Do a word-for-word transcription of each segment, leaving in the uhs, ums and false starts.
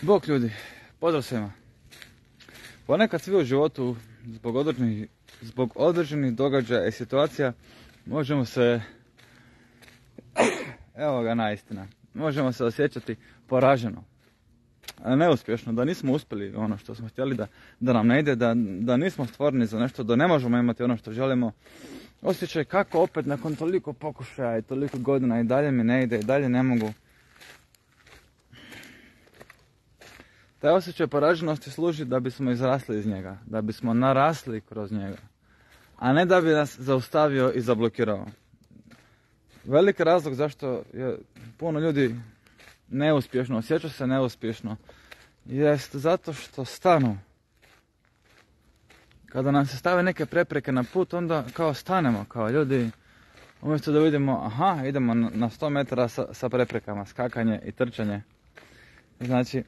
Bog ljudi, pozdrav svima. Ponekad svi u životu zbog određenih, zbog određenih događaja i situacija možemo se, evo ga naistina, možemo se osjećati poraženo, neuspješno, da nismo uspjeli ono što smo htjeli, da, da nam ne ide, da, da nismo stvoreni za nešto, da ne možemo imati ono što želimo. Osjećaj kako opet nakon toliko pokušaja i toliko godina i dalje mi ne ide i dalje ne mogu. Taj osjećaj poraženosti služi da bismo izrasli iz njega, da bismo narasli kroz njega, a ne da bi nas zaustavio i zablokirao. Veliki razlog zašto je puno ljudi neuspješno, osjeća se neuspješno, jest zato što stanu. Kada nam se stave neke prepreke na put, onda kao stanemo, kao ljudi, umjesto da vidimo, aha, idemo na sto metara sa, sa preprekama, skakanje i trčanje. Znači,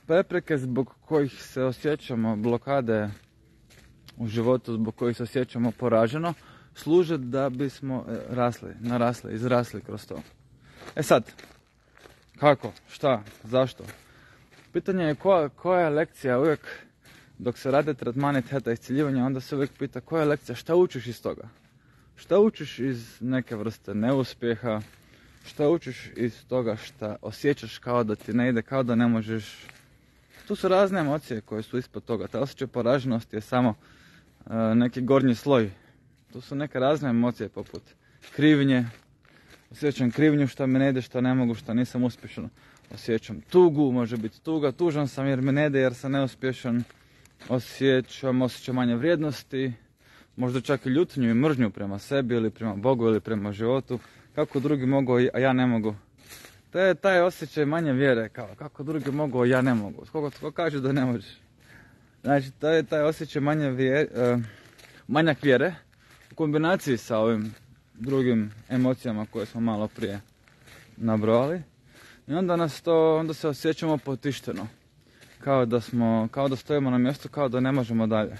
prepreke zbog kojih se osjećamo, blokade u životu zbog kojih se osjećamo poraženo, služe da bismo rasli, narasli, izrasli kroz to. E sad, kako, šta, zašto? Pitanje je koja, koja je lekcija uvijek, dok se rade tretmani teta isciljivanja, onda se uvijek pita koja je lekcija, šta učiš iz toga? Šta učiš iz neke vrste neuspjeha? Šta učiš iz toga šta osjećaš kao da ti ne ide, kao da ne možeš? Tu su razne emocije koje su ispod toga. Ta osjećaj poraženosti je samo uh, neki gornji sloj. Tu su neke razne emocije poput krivnje. Osjećam krivnju što mi ne ide, što ne mogu, što nisam uspješan. Osjećam tugu, može biti tuga, tužan sam jer mi ne ide, jer sam neuspješan. Osjećam osjećam manje vrijednosti, možda čak i ljutnju i mržnju prema sebi ili prema Bogu ili prema životu. Kako drugi mogu, a ja ne mogu. To je taj osjećaj manje vjere, kao kako drugi mogu, a ja ne mogu. Koliko tko kaže da ne možeš. Znači, to je taj osjećaj manje vjere, uh, manjak vjere u kombinaciji sa ovim drugim emocijama koje smo malo prije nabrojali. I onda nas to, onda se osjećamo potišteno. Kao da smo, kao da stojimo na mjestu, kao da ne možemo dalje.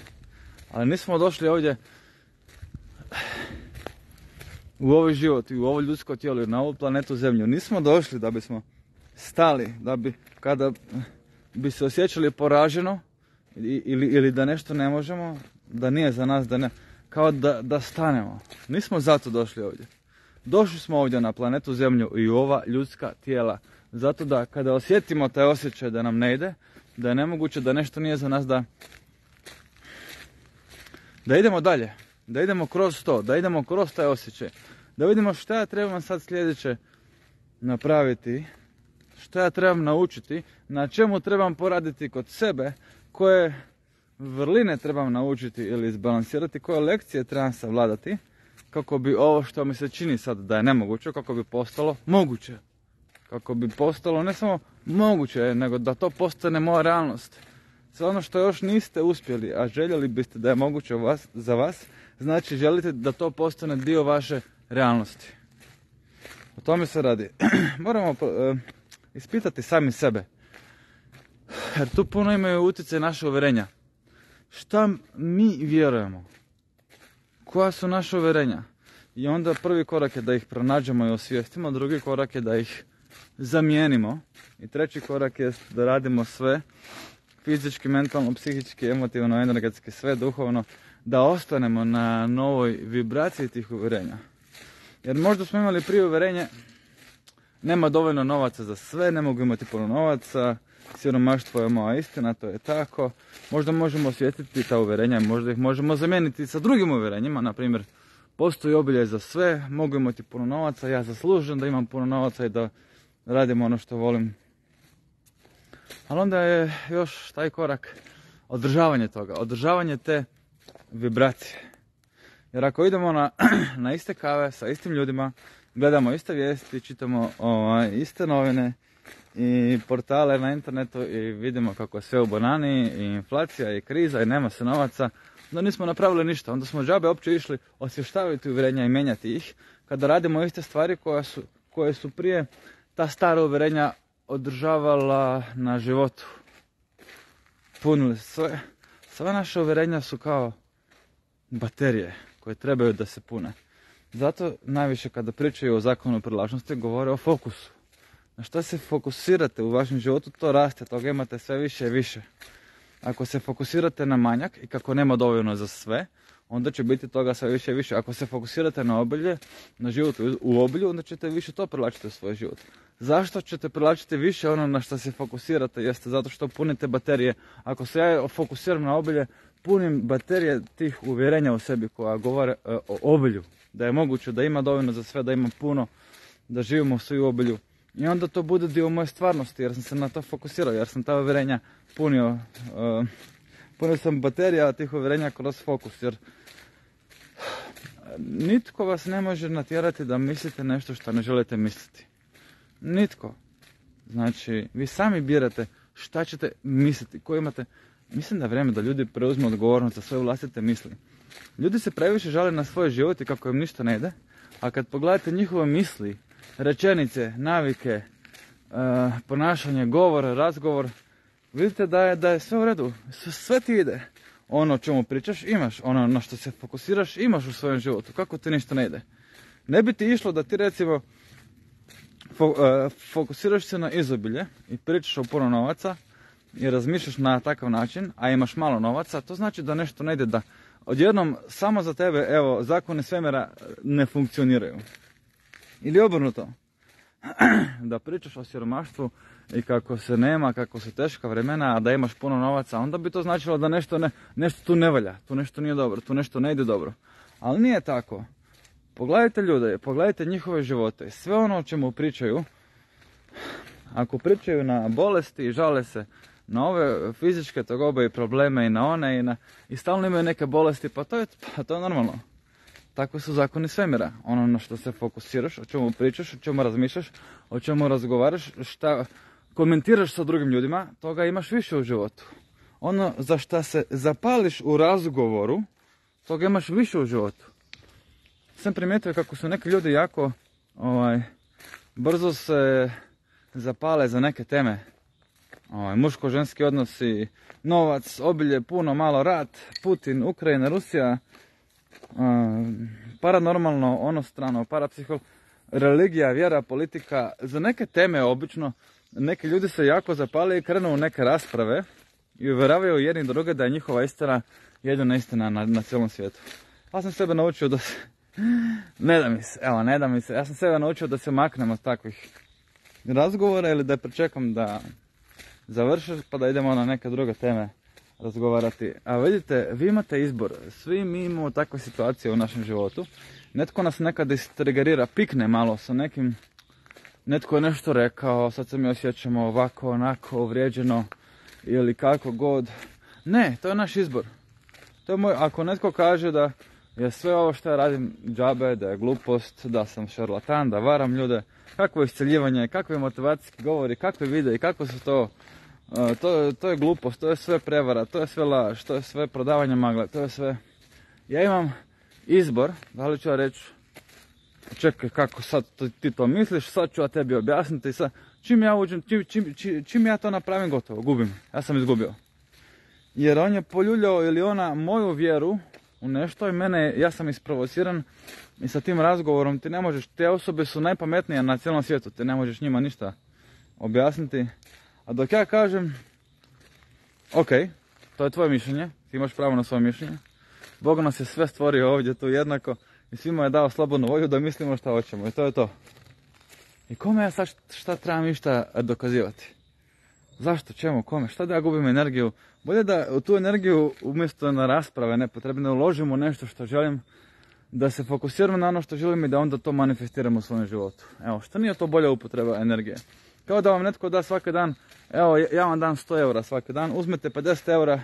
Ali nismo došli ovdje u ovaj život i u ovo ljudsko tijelo i na ovu planetu Zemlju. Nismo došli da bismo stali, da bi kada bi se osjećali poraženo ili, ili, ili da nešto ne možemo, da nije za nas, da ne, kao da, da stanemo. Nismo zato došli ovdje. Došli smo ovdje na planetu Zemlju i u ova ljudska tijela. Zato da kada osjetimo taj osjećaj da nam ne ide, da je nemoguće, da nešto nije za nas, da, da idemo dalje. Da idemo kroz to, da idemo kroz taj osjećaj. Da vidimo šta ja trebam sad sljedeće napraviti, šta ja trebam naučiti, na čemu trebam poraditi kod sebe, koje vrline trebam naučiti ili izbalansirati, koje lekcije trebam savladati, kako bi ovo što mi se čini sad da je nemoguće, kako bi postalo moguće. Kako bi postalo ne samo moguće, nego da to postane moja realnost. Sve ono što još niste uspjeli, a željeli biste da je moguće vas, za vas, znači želite da to postane dio vaše realnosti. O tome se radi. Moramo uh, ispitati sami sebe. Jer tu puno imaju utjecaj naše uvjerenja. Šta mi vjerujemo? Koja su naše uvjerenja? I onda prvi korak je da ih pronađemo i osvijestimo, drugi korak je da ih zamijenimo i treći korak je da radimo sve fizički, mentalno, psihički, emotivno, energetski, sve duhovno, da ostanemo na novoj vibraciji tih uvjerenja. Jer možda smo imali prije uvjerenje, nema dovoljno novaca za sve, ne mogu imati puno novaca, siromaštvo je moja istina, to je tako. Možda možemo osvijestiti ta uvjerenja, možda ih možemo zamijeniti sa drugim uvjerenjima, na primjer, postoji obilje za sve, mogu imati puno novaca, ja zaslužujem da imam puno novaca i da radim ono što volim. Ali onda je još taj korak održavanje toga, održavanje te vibracije. Jer ako idemo na, na iste kave sa istim ljudima, gledamo iste vijesti, čitamo o, iste novine i portale na internetu i vidimo kako je sve u banani i inflacija i kriza i nema se novaca, onda nismo napravili ništa. Onda smo džabe uopće išli osvještavati uvjerenja i mijenjati ih kada radimo iste stvari koje su, koje su prije ta stara uvjerenja održavala na životu. Punili sve. Sva naša uvjerenja su kao baterije koje trebaju da se pune. Zato najviše kada pričaju o zakonu privlačnosti govore o fokusu. na šta se fokusirate u vašem životu, to raste, toga imate sve više i više. Ako se fokusirate na manjak i kako nema dovoljno za sve, onda će biti toga sve više i više. Ako se fokusirate na obilje, na život u obilju, onda ćete više to privlačiti u svoj život. Zašto ćete privlačiti više ono na što se fokusirate? Jeste zato što punite baterije. Ako se ja fokusiram na obilje, punim baterije tih uvjerenja u sebi koja govore e, o obilju. Da je moguće, da ima dovoljno za sve, da ima puno, da živimo svi u obilju. I onda to bude dio moje stvarnosti jer sam se na to fokusirao, jer sam ta uvjerenja punio. E, punio sam baterija tih uvjerenja kroz fokus. Jer nitko vas ne može natjerati da mislite nešto što ne želite misliti. Nitko. Znači, vi sami birate šta ćete misliti, koji imate. Mislim da je vrijeme da ljudi preuzmu odgovornost za svoje vlastite misli. Ljudi se previše žale na svoj život i kako im ništa ne ide, a kad pogledate njihove misli, rečenice, navike, uh, ponašanje, govor, razgovor, vidite da je, da je sve u redu, sve ti ide. Ono o čemu pričaš imaš, ono na što se fokusiraš imaš u svojem životu, kako ti ništa ne ide. Ne bi ti išlo da ti recimo fo, uh, fokusiraš se na izobilje i pričaš o puno novaca i razmišljaš na takav način, a imaš malo novaca, to znači da nešto ne ide, da odjednom samo za tebe, evo, zakoni svemira ne funkcioniraju. Ili obrnuto, da pričaš o siromaštvu i kako se nema, kako su teška vremena, a da imaš puno novaca, onda bi to značilo da nešto, ne, nešto tu ne valja, tu nešto nije dobro, tu nešto ne ide dobro. Ali nije tako. Pogledajte ljude, pogledajte njihove živote, sve ono o čemu pričaju, ako pričaju na bolesti i žale se na ove fizičke tegobe i probleme i na one i, na, i stalno imaju neke bolesti, pa to je, pa to je normalno. Tako su zakoni svemira. Ono na što se fokusiraš, o čemu pričaš, o čemu razmišljaš, o čemu razgovaraš, šta komentiraš sa drugim ljudima, toga imaš više u životu. Ono za šta se zapališ u razgovoru, toga imaš više u životu. Sam primijetio kako su neki ljudi jako ovaj, brzo se zapale za neke teme. Ovaj, muško-ženski odnosi, novac, obilje, puno, malo, rat, Putin, Ukrajina, Rusija, uh, paranormalno, ono strano, parapsiho, religija, vjera, politika. Za neke teme obično neki ljudi se jako zapale i krenu u neke rasprave i uvjeravaju jedni druge da je njihova istina jedina istina na, na cijelom svijetu. Ja sam sebe naučio da se, ne da mi se, evo ne da mi se, ja sam sebe naučio da se maknem od takvih razgovora ili da pričekam da završiš pa da idemo na neke druge teme razgovarati. A vidite, vi imate izbor. Svi mi imamo takve situacije u našem životu. Netko nas nekada istrigerira, pikne malo sa nekim, netko je nešto rekao, sad se mi osjećamo ovako, onako, uvrijeđeno ili kako god. Ne, to je naš izbor. To je moj, ako netko kaže da je sve ovo što ja radim džabe, da je glupost, da sam šarlatan, da varam ljude, kakvo isceljivanje, kakve motivacijski govori, kakve videi, kako su to, uh, to, to je glupost, to je sve prevara, to je sve laž, to je sve prodavanje magle, to je sve. Ja imam izbor, da li ću ja reći, čekaj kako sad ti to misliš, sad ću ja tebi objasniti, sad, čim ja uđem, čim, čim, čim, čim ja to napravim gotovo, gubim, ja sam izgubio. Jer on je poljuljao ili ona moju vjeru u nešto i mene, ja sam isprovociran i sa tim razgovorom ti ne možeš, te osobe su najpametnije na cijelom svijetu, ti ne možeš njima ništa objasniti. A dok ja kažem, ok, to je tvoje mišljenje, ti imaš pravo na svoje mišljenje, Bog nas je sve stvorio ovdje tu jednako i svima je dao slobodnu volju da mislimo šta hoćemo i to je to. I kome ja sad šta trebam išta dokazivati? Zašto, čemu, kome, šta da ja gubim energiju? Bolje da u tu energiju umjesto na rasprave nepotrebne uložimo nešto što želim, da se fokusiramo na ono što želim i da onda to manifestiramo u svojem životu. Evo, što nije to bolja upotreba energije? Kao da vam netko da svaki dan, evo ja vam dam sto eura svaki dan, uzmete pedeset eura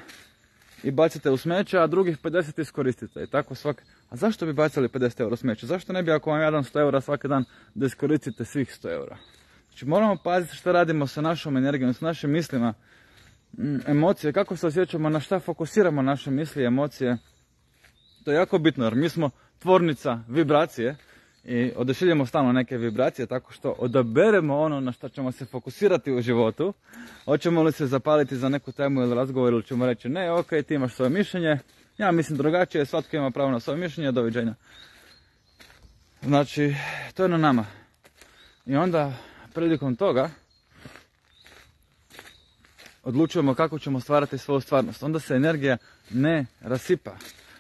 i bacite u smeće, a drugih pedeset iskoristite. I tako svaki... A zašto bi bacili pedeset eura u smeće? Zašto ne bi ako vam ja dam sto eura svaki dan da iskoristite svih sto eura? Znači moramo paziti što radimo sa našom energijom, sa našim mislima, emocije, kako se osjećamo, na šta fokusiramo naše misli i emocije. To je jako bitno jer mi smo tvornica vibracije i odašiljemo stalno neke vibracije tako što odaberemo ono na što ćemo se fokusirati u životu. Hoćemo li se zapaliti za neku temu ili razgovor ili ćemo reći ne, ok, ti imaš svoje mišljenje, ja mislim drugačije, svatko ima pravo na svoje mišljenje, doviđenja. Znači, to je na nama. I onda prilikom toga odlučujemo kako ćemo stvarati svoju stvarnost. Onda se energija ne rasipa.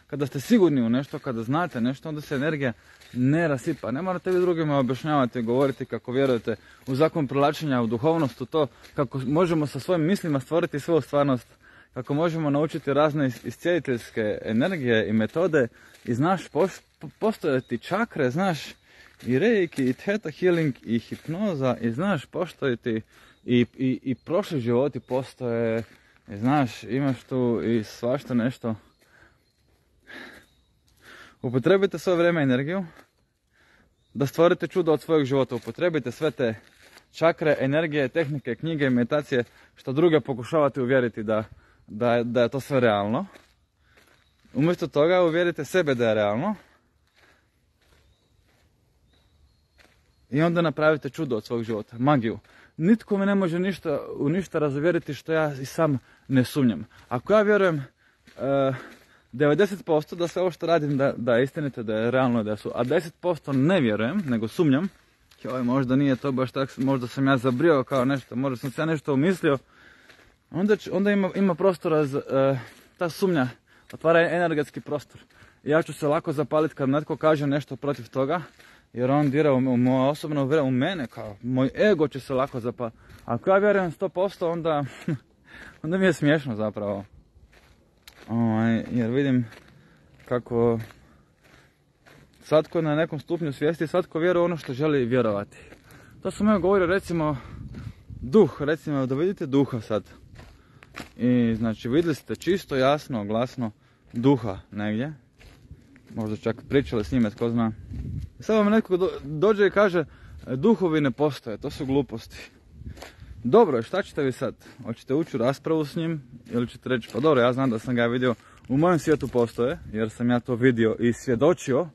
Kada ste sigurni u nešto, kada znate nešto, onda se energija ne rasipa. Ne morate vi drugima objašnjavati, govoriti kako vjerujete u zakon privlačenja, u duhovnost, u to kako možemo sa svojim mislima stvoriti svoju stvarnost, kako možemo naučiti razne iscijeliteljske energije i metode i znaš postojati čakre, znaš i reiki, i theta healing, i hipnoza, i znaš postojati i, i, i prošli životi postoje, i znaš, imaš tu i svašta nešto. Upotrebite svoje vrijeme i energiju da stvorite čudo od svojeg života. Upotrebite sve te čakre, energije, tehnike, knjige, meditacije, što druge pokušavate uvjeriti da, da, da je to sve realno. Umjesto toga uvjerite sebe da je realno i onda napravite čudo od svog života, magiju. Nitko me ne može ništa, u ništa razuvjeriti što ja i sam ne sumnjam. Ako ja vjerujem uh, devedeset posto da sve ovo što radim da, da je istinite, da je realno, da su, a deset posto ne vjerujem, nego sumnjam, joj, možda nije to baš tako, možda sam ja zabrio kao nešto, možda sam se ja nešto umislio, onda, onda ima, ima prostora za, uh, ta sumnja, otvara energetski prostor. I ja ću se lako zapaliti kad netko kaže nešto protiv toga, jer on dira u, u moje osobno vjerujem, u mene, kao moj ego će se lako zapaliti. Ako ja vjerujem sto posto, onda, onda mi je smiješno zapravo. Ovaj, jer vidim kako svatko na nekom stupnju svijesti, svatko vjeruje ono što želi vjerovati. To sam ja govorio, recimo, duh, recimo da vidite duha sad. I znači vidjeli ste čisto, jasno, glasno duha negdje. Možda čak pričali s njime, tko zna. Sad vam netko do, dođe i kaže, duhovi ne postoje, to su gluposti. Dobro, šta ćete vi sad? Hoćete ući u raspravu s njim ili ćete reći, pa dobro, ja znam da sam ga vidio, u mojem svijetu postoje, jer sam ja to vidio i svjedočio,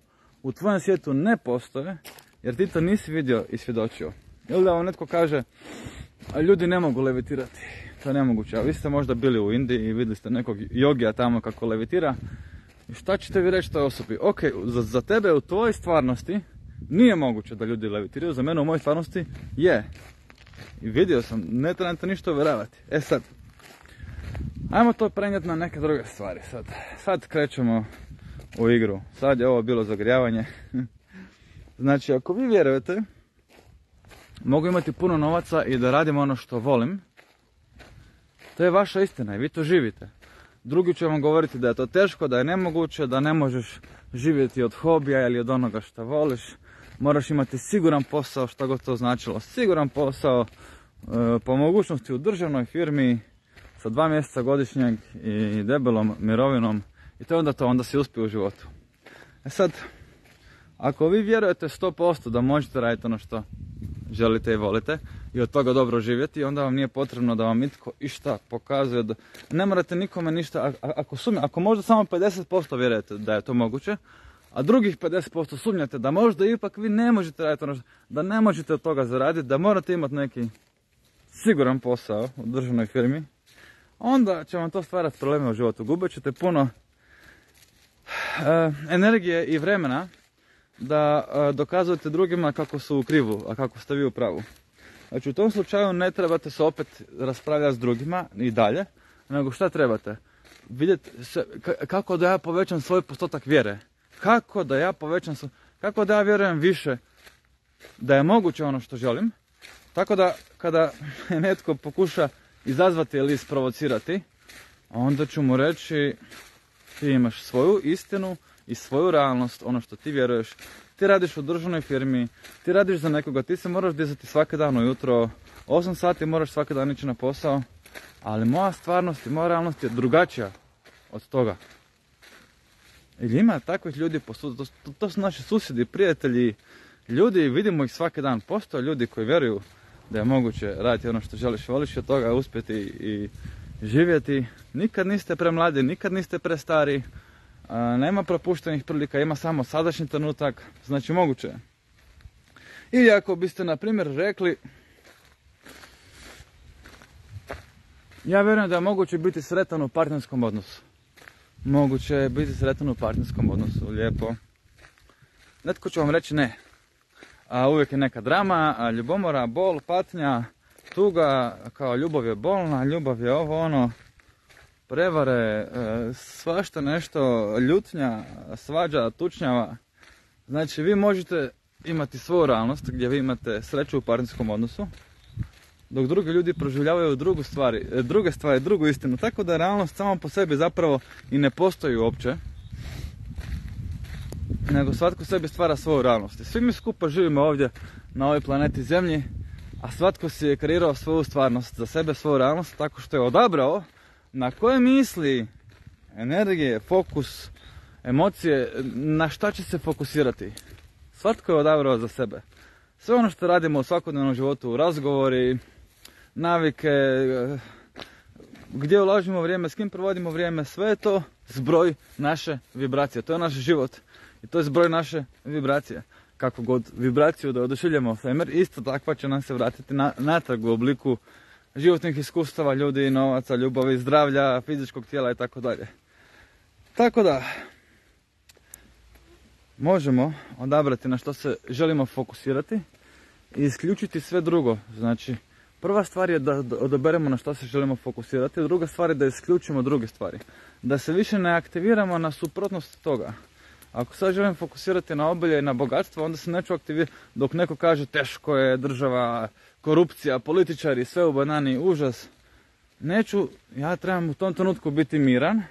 u tvojem svijetu ne postoje, jer ti to nisi vidio i svjedočio. Ili da vam netko kaže, a ljudi ne mogu levitirati, to je nemoguće, a vi ste možda bili u Indiji i vidjeli ste nekog jogija tamo kako levitira, i šta ćete vi reći toj osobi? Ok, za, za tebe u tvojoj stvarnosti nije moguće da ljudi levitiraju, za mene u mojoj stvarnosti je. I vidio sam, ne trebam to ništa uvjeravati. E sad, ajmo to prenijeti na neke druge stvari. Sad, sad krećemo u igru. Sad je ovo bilo zagrijavanje. Znači, ako vi vjerujete, mogu imati puno novaca i da radim ono što volim, to je vaša istina i vi to živite. Drugi će vam govoriti da je to teško, da je nemoguće, da ne možeš živjeti od hobija ili od onoga što voliš. Moraš imati siguran posao, što god to značilo. Siguran posao, e, po mogućnosti u državnoj firmi, sa dva mjeseca godišnjeg i debelom mirovinom. I to je onda to, onda si uspio u životu. E sad, ako vi vjerujete sto posto da možete raditi ono što želite i volite i od toga dobro živjeti, onda vam nije potrebno da vam itko išta pokazuje. Da ne morate nikome ništa, ako, sumnja, ako možda samo pedeset posto vjerujete da je to moguće, a drugih pedeset posto sumnjate da možda ipak vi ne možete raditi ono što, da ne možete od toga zaraditi, da morate imati neki siguran posao u državnoj firmi, onda će vam to stvarati probleme u životu. Gubit ćete puno e, energije i vremena da e, dokazujete drugima kako su u krivu, a kako ste vi u pravu. Znači u tom slučaju ne trebate se opet raspravljati s drugima i dalje, nego šta trebate? Vidjeti se, kako da ja povećam svoj postotak vjere. Kako da ja povećam, kako da ja vjerujem više da je moguće ono što želim, tako da kada netko pokuša izazvati ili isprovocirati, onda ću mu reći, ti imaš svoju istinu i svoju realnost, ono što ti vjeruješ, ti radiš u državnoj firmi, ti radiš za nekoga, ti se moraš dizati svaki dan ujutro, osam sati moraš svaki dan ići na posao, ali moja stvarnost i moja realnost je drugačija od toga. Ili ima takvih ljudi, to, to, to su naši susjedi, prijatelji, ljudi, vidimo ih svaki dan. Postoje ljudi koji vjeruju da je moguće raditi ono što želiš, voliš od toga uspjeti i živjeti. Nikad niste premladi, nikad niste prestari, a, nema propuštenih prilika, ima samo sadašnji trenutak, znači moguće je. Ili ako biste, na primjer, rekli, ja vjerujem da je moguće biti sretan u partnerskom odnosu. Moguće je biti sretan u partnerskom odnosu, lijepo. Netko će vam reći ne. a uvijek je neka drama, a ljubomora, bol, patnja, tuga, kao ljubav je bolna, ljubav je ovo ono, prevare, svašta nešto, ljutnja, svađa, tučnjava. Znači vi možete imati svoju realnost gdje vi imate sreću u partnerskom odnosu, dok drugi ljudi proživljavaju drugu stvari, druge stvari, drugu istinu. Tako da realnost sama po sebi zapravo i ne postoji uopće, nego svatko sebi stvara svoju realnost. I svi mi skupa živimo ovdje na ovoj planeti Zemlji, a svatko si je kreirao svoju stvarnost za sebe, svoju realnost, tako što je odabrao na koje misli, energije, fokus, emocije, na šta će se fokusirati. Svatko je odabrao za sebe. Sve ono što radimo u svakodnevnom životu, razgovori, navike, gdje ulažimo vrijeme, s kim provodimo vrijeme, sve je to zbroj naše vibracije. To je naš život i to je zbroj naše vibracije. Kako god vibraciju da odušiljemo svemir, isto takva će nam se vratiti na, natrag u obliku životnih iskustava, ljudi, novaca, ljubavi, zdravlja, fizičkog tijela i tako dalje. Tako da, možemo odabrati na što se želimo fokusirati i isključiti sve drugo. Znači, prva stvar je da odaberemo na što se želimo fokusirati, druga stvar je da isključimo druge stvari. Da se više ne aktiviramo na suprotnost toga. Ako sad želim fokusirati na obilje i na bogatstvo, onda se neću aktivirati dok neko kaže teško je, država, korupcija, političari, sve u banani, užas. Neću, ja trebam u tom trenutku biti miran.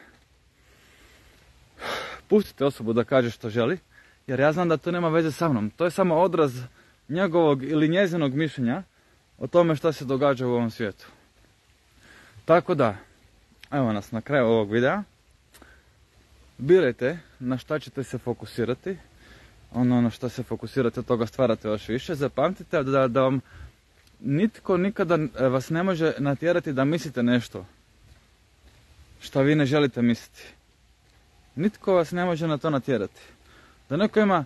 Pustite osobu da kaže što želi, jer ja znam da to nema veze sa mnom. To je samo odraz njegovog ili njezinog mišljenja o tome što se događa u ovom svijetu. Tako da, evo nas na kraju ovog videa. Birajte na šta ćete se fokusirati. Ono na što se fokusirate, od toga stvarate još više. Zapamtite da, da vam nitko nikada vas ne može natjerati da mislite nešto što vi ne želite misliti. Nitko vas ne može na to natjerati. Da neko ima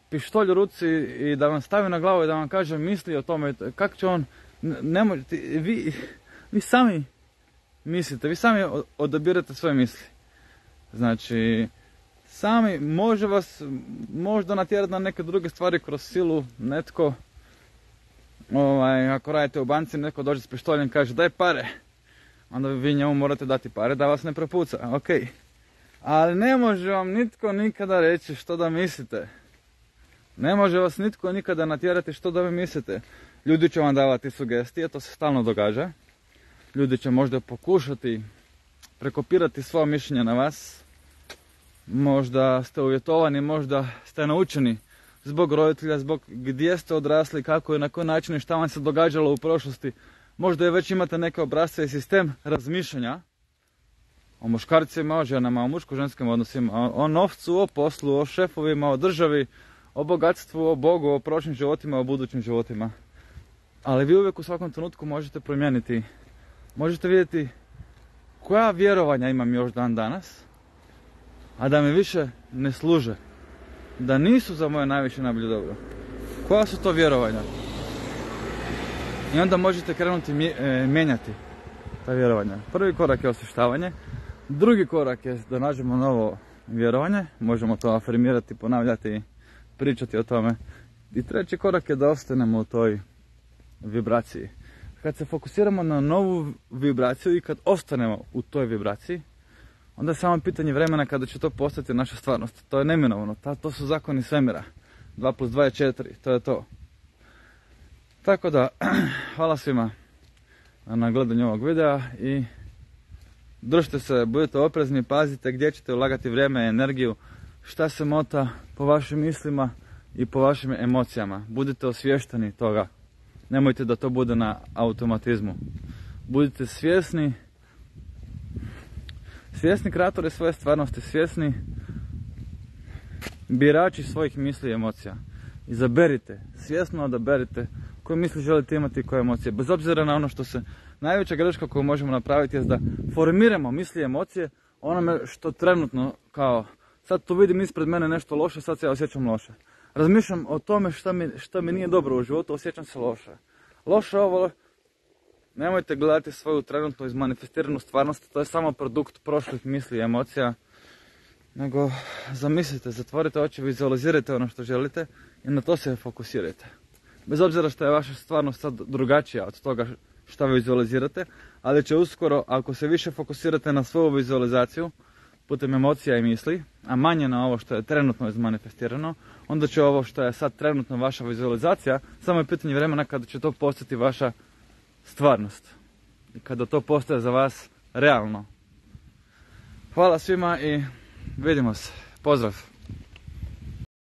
pištolj u ruci i da vam stavi na glavu i da vam kaže misli o tome, kako će on, ne možete, vi, vi sami mislite, vi sami odabirate svoje misli. Znači, sami može vas možda natjerati na neke druge stvari kroz silu, netko, ovaj, ako radite u banci, netko dođe s pištoljem i kaže daj pare, onda vi njemu morate dati pare da vas ne prepuca, ok. Ali ne može vam nitko nikada reći što da mislite. Ne može vas nitko nikada natjerati što da vi mislite. Ljudi će vam davati sugestije, to se stalno događa. Ljudi će možda pokušati prekopirati svoje mišljenje na vas. Možda ste uvjetovani, možda ste naučeni zbog roditelja, zbog gdje ste odrasli, kako i na koji način i šta vam se događalo u prošlosti. Možda je već imate neke obrasce i sistem razmišljanja o muškarcima, o ženama, o muško-ženskim odnosima, o novcu, o poslu, o šefovima, o državi, o bogatstvu, o Bogu, o prošlim životima, o budućim životima. Ali vi uvijek u svakom trenutku možete promijeniti, možete vidjeti koja vjerovanja imam još dan danas, a da mi više ne služe, da nisu za moje najviše najbolje dobro. Koja su to vjerovanja? I onda možete krenuti mijenjati ta vjerovanja. Prvi korak je osvještavanje, drugi korak je da nađemo novo vjerovanje, možemo to afirmirati, ponavljati, pričati o tome. I treći korak je da ostanemo u toj vibraciji. Kad se fokusiramo na novu vibraciju i kad ostanemo u toj vibraciji, onda je samo pitanje vremena kada će to postati naša stvarnost. To je neminovno, to su zakoni svemira. dva plus dva je četiri, to je to. Tako da, hvala svima na gledanju ovog videa i držite se, budite oprezni, pazite gdje ćete ulagati vrijeme i energiju, šta se mota po vašim mislima i po vašim emocijama. Budite osviješteni toga. Nemojte da to bude na automatizmu. Budite svjesni, svjesni kreatori svoje stvarnosti, svjesni birači svojih misli i emocija. Izaberite, svjesno odaberite koje misli želite imati i koje emocije. Bez obzira na ono što se, najveća greška koju možemo napraviti je da formiramo misli i emocije onome što trenutno kao, sad tu vidim ispred mene nešto loše, sad se ja osjećam loše. Razmišljam o tome što mi, što mi nije dobro u životu, osjećam se loše. Loše ovo, nemojte gledati svoju trenutno izmanifestiranu stvarnost, to je samo produkt prošlih misli i emocija. Nego zamislite, zatvorite oči, vizualizirajte ono što želite i na to se fokusirajte. Bez obzira što je vaša stvarnost sad drugačija od toga što vizualizirate, ali će uskoro, ako se više fokusirate na svoju vizualizaciju putem emocija i misli, a manje na ovo što je trenutno izmanifestirano, onda će ovo što je sad trenutno vaša vizualizacija, samo je pitanje vremena kada će to postati vaša stvarnost. I kada to postaje za vas realno. Hvala svima i vidimo se. Pozdrav!